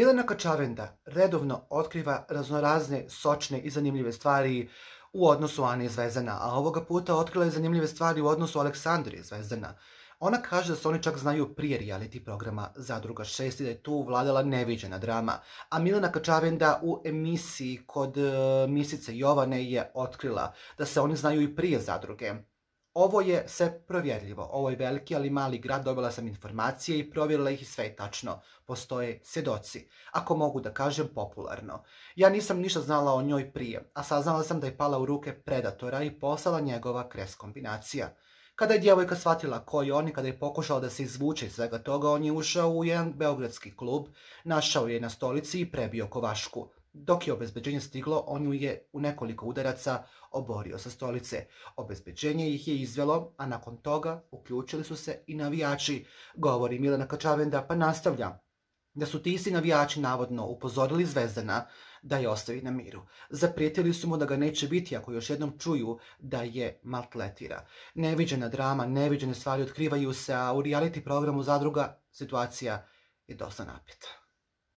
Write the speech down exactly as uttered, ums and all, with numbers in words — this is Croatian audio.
Milena Kačavenda redovno otkriva raznorazne, sočne i zanimljive stvari u odnosu Ane i Zvezdana, a ovoga puta otkrila je zanimljive stvari u odnosu Aleksandre i Zvezdana. Ona kaže da se oni čak znaju prije reality programa Zadruga šest i da je tu vladala neviđena drama, a Milena Kačavenda u emisiji kod uh, Misice Jovane je otkrila da se oni znaju i prije Zadruge. Ovo je sve provjerljivo, ovo je veliki ali mali grad, dobila sam informacije i provjerila ih i sve je tačno. Postoje svjedoci, ako mogu da kažem popularno. Ja nisam ništa znala o njoj prije, a saznala sam da je pala u ruke predatora i postala njegova kres kombinacija. Kada je djevojka shvatila ko je on i kada je pokušala da se izvuče iz svega toga, on je ušao u jedan beogradski klub, našao je na stolici i prebio kovašku. Dok je obezbeđenje stiglo, on ju je u nekoliko udaraca oborio sa stolice. Obezbeđenje ih je izvelo, a nakon toga uključili su se i navijači, govori Milena Kačavenda, pa nastavlja da su ti isti navijači navodno upozorili Zvezdana da je ostavi na miru. Zaprijetili su mu da ga neće biti ako još jednom čuju da je maltretira. Neviđena drama, neviđene stvari otkrivaju se, a u reality programu Zadruga situacija je dosta napeta.